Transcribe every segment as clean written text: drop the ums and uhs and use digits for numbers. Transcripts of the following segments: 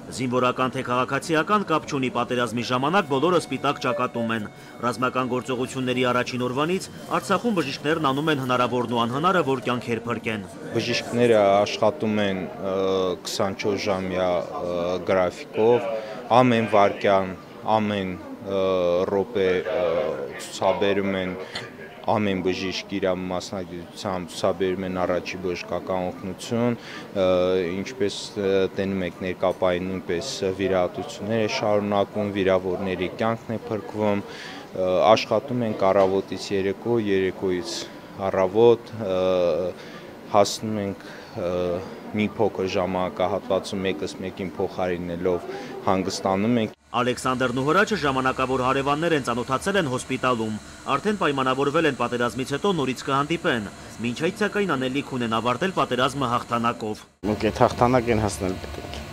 Զինվորական թե քաղաքացիական կապ չունի, պատերազմի ժամանակ բոլորը սպիտակ ճակատում են։ Ռազմական գործողությունների առաջին օրվանից Արցախում բժիշկներն անում են հնարավորն ու անհնարը, որ կյանքեր փրկեն։ Բժիշկները աշխատում են 24-ժամյա գրաֆիկով, ամեն վայրկյան, ամեն րոպե ցուցաբերում են ամեն բժիշկ իր մասնագիտությամբ ցուցաբերում են առաջի բժշկական օգնություն, ինչպես տենում եք ներկապային նույնպես վիրահատություններ է շարունակվում, վիրավորների կյանքն է փրկվում, աշխատում ենք առավոտից երեկո, երեկոից առավոտ, հասնում ենք մի փոքր ժամանակահատվածում մեկս մեկին փոխարինելով հանգստանում ենք։ Ալեքսանդրն ու Հրաչը ժամանակավոր հարևաններ են, ծանոթացել են հոսպիտալում, արդեն պայմանավորվել են պատերազմից հետո նորից կհանդիպեն, մինչ այդ սակայն անելիք ունեն ավարտել պատերազմը հաղթանակով։ Մենք այդ հաղթանակ են հասնել պետք է։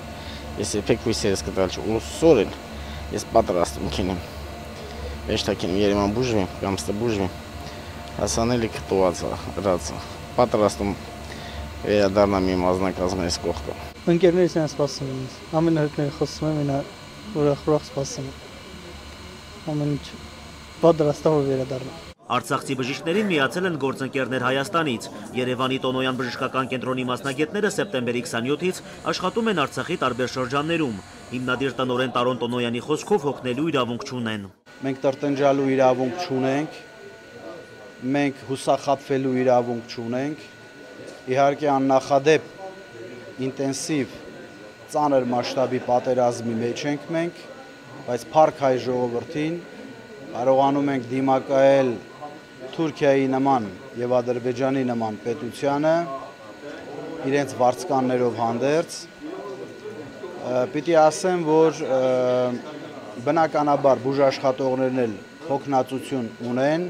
Ես երբեք հույսերս կտալ չուսորեն, ես պատրաստում քինեմ։ Եշտակին Երևան բուժվի, կամ ստե բուժվի։ Հասանելիք տուածա, հրացա։ Պատրաստում վերադառնամ իմ ազնագազմի կողքը։ Ընկերներս են սպասում ինձ։ Ամեն հերթները խոսում եմ, ինա ուրախ սպասում եմ։ Ամեն ինչ պատրաստավոր վերադառնամ։ Արցախցի բժիշկներին միացել են գործընկերներ Հայաստանից։ Երևանի Տոնոյան բժշկական կենտրոնի մասնագետները սեպտեմբերի 27-ից աշխատում են Արցախի տարբեր շրջաններում։ Հիմնադիր տնօրեն Տարոն Տոնոյանի խոսքով հոգնելու իրավունք չունեն։ Մենք տրտնջալու իրավունք չունենք, մենք հուսախաբվելու իրավունք չունենք։ Իհարկե աննախադեպ ինտենսիվ ծանր մասշտաբի պատերազմի մեջ ենք մենք, բայց փառք հայ ժողովրդին կարողանում ենք դիմակայել Թուրքիայի նման եւ Ադրբեջանի նման պետությանը իրենց վարձկաններով հանդերձ։ Պիտի ասեմ, որ բնականաբար բուժաշխատողներն էլ հոգնածություն ունեն,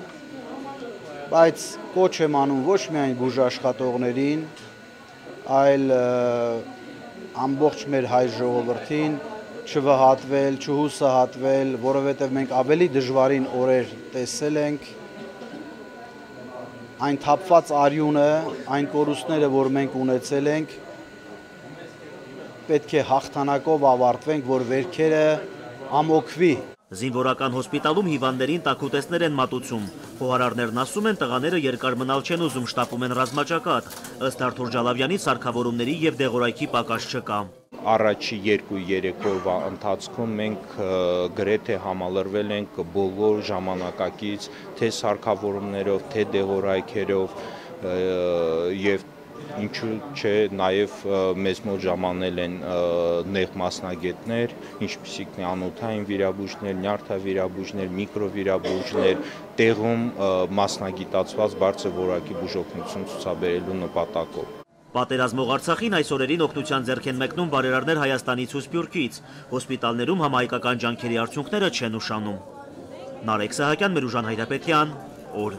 բայց կոչ եմ անում ոչ միայն բուժաշխատողներին, այլ ամբողջ մեր հայ ժողովրդին չվհատվել, չհուսահատվել, որովհետև մենք ավելի դժվարին օրեր տեսել ենք, այն թափված արյունը, այն կորուստները, որ մենք ունեցել ենք, պետք է հաղթանակով ավարտվենք, որ վերքերը ամոքվի։ Զինվորական հոսպիտալում հիվանդներին տաքուտեսներ են մատուցում։ Խոհարարներն ասում են, տղաները երկար մնալ չեն ուզում, շտապում են ռազմաճակատ։ Ըստ Արթուր Ջալավյանի սարքավորումների եւ դեղորայքի պակաս չկա։ Առաջի 2-3 օրվա ընթացքում մենք գրեթե համալրվել ենք բոլոր ժամանակակից թե սարքավորումներով, թե դեղորայքերով եւ ինչու՞ չէ, նաև մեզ մոտ ժամանել են նեղ մասնագետներ, ինչպիսիք անոթային վիրաբույժներ, նյարդավիրաբույժներ, միկրովիրաբույժներ, տեղում մասնագիտացված բարձր որակի բուժօգնություն ցուցաբերելու նպատակով։ Պատերազմող Արցախին այս օրերին օգնության ձեռք են մեկնում բարերարներ Հայաստանից ու Սփյուռքից։ Հոսպիտալներում համահայկական ջանքերի արդյունքները չեն ուշանում։ Նարեկ Սահակյան, Մերուժան Հայրապետյան, օր։